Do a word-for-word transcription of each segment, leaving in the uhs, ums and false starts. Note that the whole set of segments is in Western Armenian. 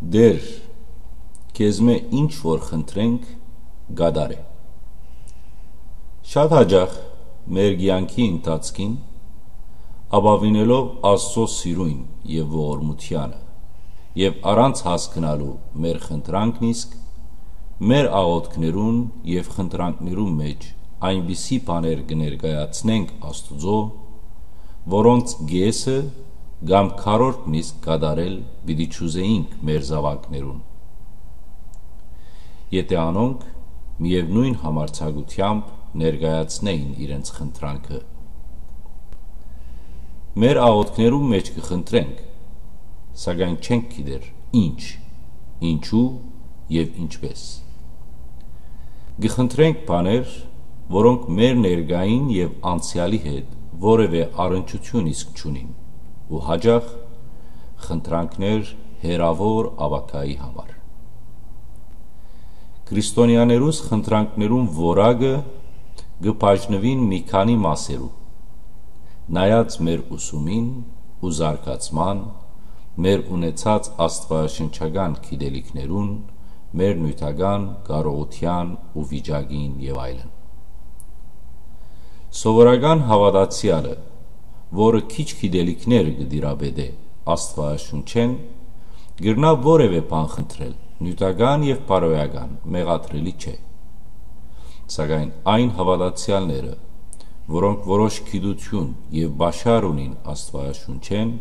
Տէր, քեզմէ ինչ որ խնդրենք, կատարէ։ Շատ յաճախ մեր կեանքի ընթացքին, ապաւինելով Աստուծոյ սիրոյն եւ ողորմութեանը, եւ առանց հասկնալու մեր խնդրանքն իսկ, մեր աղօթքներուն եւ խնդրանքներուն մէջ այնպիսի բաներ կը ներկայացնենք Աստուծոյ, որոնց կէսը կամ քառորդն իսկ կատարել պիտի չուզէինք մեր զաւակներուն, եթէ անոնք միեւնոյն համարձակութեամբ ներկայացնէին իրենց խնդրանքը։ Մեր աղօթքներուն մէջ կը խնդրենք, սակայն չենք գիտեր ինչ, ինչու եւ ինչպէս։ Կը խնդրենք բաներ, որոնք մեր ներկային եւ անցեալի հետ որեւէ առնչութիւն իսկ չունին, ու յաճախ խնդրանքներ հեռաւոր ապագայի համար։ Քրիստոնեաներուս խնդրանքներուն որակը կը բաժնուին մի քանի մասերու, նայած մեր ուսումին ու զարգացման, մեր ունեցած աստուածաշնչական գիտելիքներուն, մեր նիւթական կարողութեան ու վիճակին եւ այլն։ Սովորական հաւատացեալը, որը քիչ գիտելիքներ կը տիրապետէ Աստուածաշունչէն, կրնայ որեւէ բան խնդրել, նիւթական եւ բարոյական, մեղադրելի չէ։ Սակայն այն հաւատացեալները, որոնք որոշ գիտութիւն եւ պաշար ունին Աստուածաշունչէն,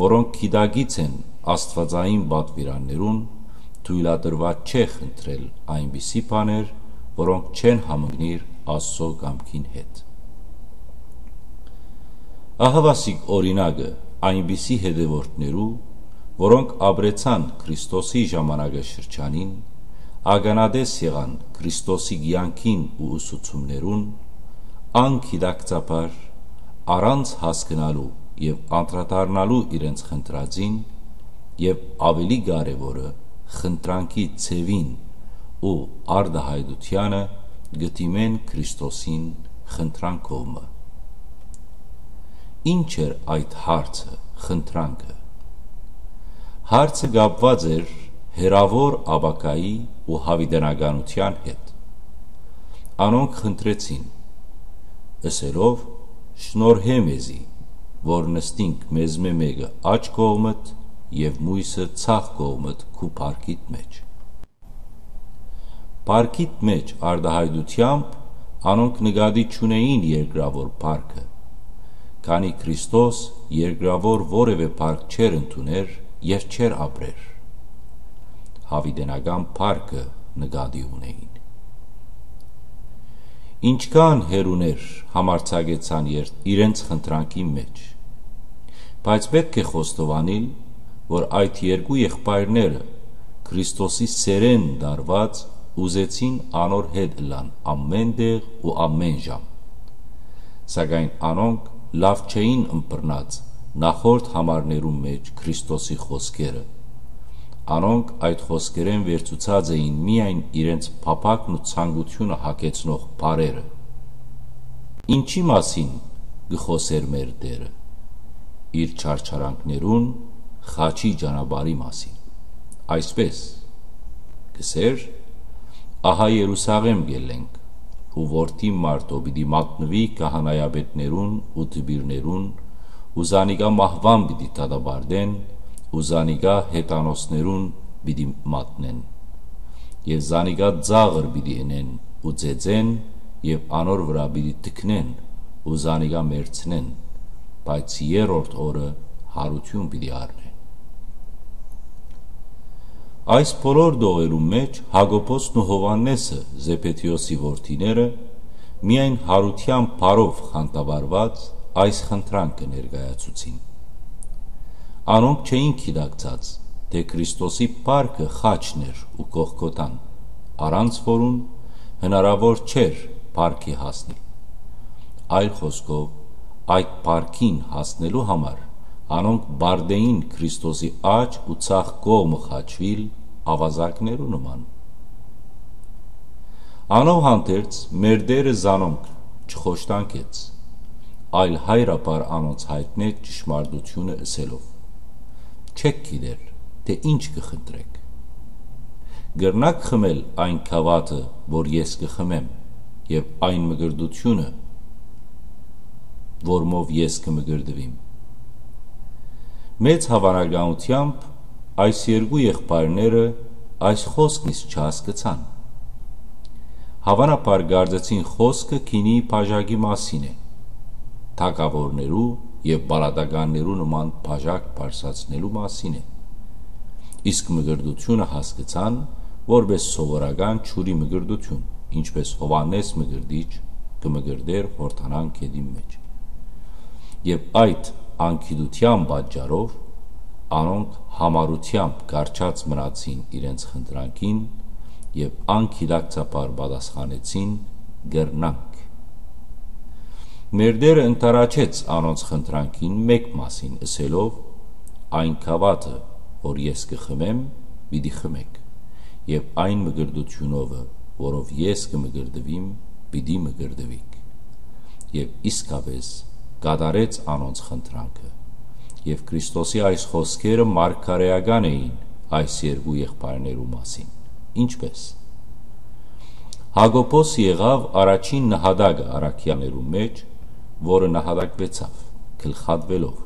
որոնք գիտակից են աստուածային պատուիրաններուն, թոյլատրուած չէ խնդրել այնպիսի բաներ, որոնք չեն համընկնիր Աստուծոյ կամքին հետ։ Ահա վասիկ օրինակը այնպիսի հետեւորդներու, որոնք ապրեցան Քրիստոսի ժամանակաշրջանին, ականատես եղան Քրիստոսի կեանքին ու ուսուցումներուն, անգիտակցաբար, առանց հասկնալու եւ անդրադառնալու իրենց խնդրածին, եւ աւելի կարեւորը, խնդրանքի ձեւին ու արտայայտութեանը կը դիմեն Քրիստոսին խնդրանքով մը։ Ի՞նչ էր այդ հարցը, խնդրանքը։ Հարցը կապուած էր հեռաւոր ապագայի ու յաւիտենականութեան հետ։ Անոնք խնդրեցին, ըսելով. «Շնորհէ մեզի, որ նստինք մեզմէ մէկը աջ կողմդ եւ միւսը ձախ կողմդ քու փառքիդ մէջ»։ Փառքիդ մէջ արտայայտութեամբ անոնք նկատի չունէին երկրաւոր փառքը, քանի Քրիստոս երկրաւոր որեւէ փառք չէր ընդուներ եւ չէր ապրեր։ Յաւիտենական փառքը նկատի ունէին։ Ինչքան հեռուներ համարձակեցան երթ իրենց խնդրանքի մէջ, բայց պէտք է խոստովանիլ, որ այդ երկու եղբայրները Քրիստոսի սէրէն տարուած ուզեցին անոր հետ ըլլան ամէն տեղ ու ամէն ժամ։ Սակայն անոնք լաւ չէին ըմբռնած նախորդ համարներուն մէջ Քրիստոսի խօսքերը։ Անոնք այդ խօսքերէն վերցուցած էին միայն իրենց փափակն ու ցանկությունը հագեցնող բառերը։ Ինչի՞ մասին կը խօսէր մեր Տէրը։ Իր չարչարանքներուն, խաչի ճանապարհի մասին։ Այսպէս, կ'ըսէր. «Ահա Երուսաղէմ կ'ելլենք, ու Որդին մարդոյ պիտի մատնուի քահանայապետներուն ու դպիրներուն, ու զանիկա մահուան պիտի դատապարտեն, ու զանիկա հեթանոսներուն պիտի մատնեն, եւ զանիկա ծաղր պիտի ընեն ու ծեծեն, եւ անոր վրայ պիտի թքնեն ու զանիկա մեռցնեն, բայց երրորդ օրը յարութիւն պիտի առնէ»։ Այս բոլոր տողերուն մէջ Յակոբոսն ու Յովհաննէսը, Զեբեդէոսի որդիները, միայն յարութեան բառով խանդավառուած այս խնդրանքը ներկայացուցին։ Անոնք չէին գիտակցած, թէ Քրիստոսի փառքը խաչն էր ու կողքոթան, առանց որուն հնարաւոր չէր փառքի հասնիլ։ Այլ խօսքով, այդ փառքին հասնելու համար անոնք պարտէին Քրիստոսի աջ ու ձախ կողմը խաչուիլ աւազակներու նման։ Անով հանդերձ մեր Տէրը զանոնք չխոշտանգեց, այլ հայրաբար անոնց յայտնեց ճշմարտութիւնը ըսելով. «Չէք գիտեր, թէ ինչ կը խնդրէք։ Կրնա՞ք խմել այն գաւաթը, որ ես կը խմեմ, եւ այն մկրտութիւնը, որմով ես կը մկրտուիմ»։ Մեծ հաւանականութեամբ այս երկու եղբայրները այս խօսքն իսկ չհասկցան։ Հաւանաբար կարծեցին խօսքը գինի բաժակի մասին է, թագաւորներու եւ պալատականներու նման բաժակ բարձրացնելու մասին է, իսկ մկրտութիւնը հասկցան որպէս սովորական ջուրի մկրտութիւն, ինչպէս Յովհաննէս Մկրտիչ կը մկրտէր Յորդանան գետին մէջ։ Եւ այդ անգիտութեան պատճառով անոնք յամառութեամբ կառչած մնացին իրենց խնդրանքին եւ անգիտակցաբար պատասխանեցին. «Կրնանք»։ Մեր Տէրը ընդառաջեց անոնց խնդրանքին մէկ մասին, ըսելով. «Այն գաւաթը, որ ես կը խմեմ, պիտի խմէք, եւ այն մկրտութիւնովը, որով ես կը մկրտուիմ, պիտի մկրտուիք»։ Եւ իսկապէս կատարեց անոնց խնդրանքը։ Եւ Քրիստոսի այս խօսքերը մարգարէական էին այս երկու եղբայրներու մասին։ Ինչպէս։ Յակոբոս եղաւ առաջին նահատակը առաքեալներու մէջ, որը նահատակուեցաւ, գլխատուելով։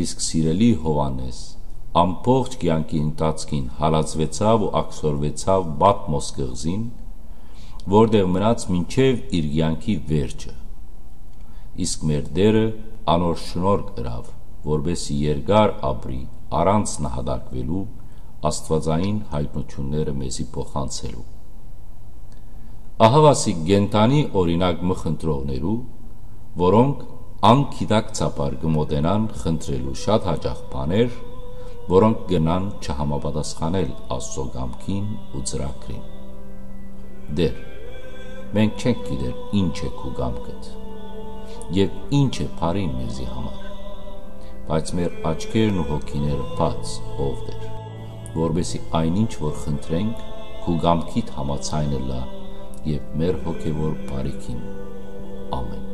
Իսկ սիրելի Յովհաննէս ամբողջ կեանքի ընթացքին հալածուեցաւ ու աքսորուեցաւ Պատմոս կղզին, որտեղ մնաց մինչեւ իր կեանքի վերջը։ Իսկ մեր Տէրը անոր շնորհք ըրաւ, որպէս զի երկար ապրի առանց նահատակուելու, աստուածային յայտնութիւնները մեզի փոխանցելու։ Ահաւասիկ կենդանի օրինակ մը խնդրողներու, որոնք անգիտակցաբար կը մօտենան խնդրելու շատ յաճախ բաներ, որոնք կրնան չհամապատասխանել Աստծո կամքին ու ծրագրին։ Տէր, մենք չենք գիտեր ինչ է քու կամքդ եւ ինչ է բարին մեզի համար, բայց մեր աչքերն ու հոգիները բաց, ով Տէր, որպէս զի այն ինչ որ խնդրենք, քու կամքիդ համաձայն ըլլայ եւ մեր հոգեւոր բարիքին։ Ամէն։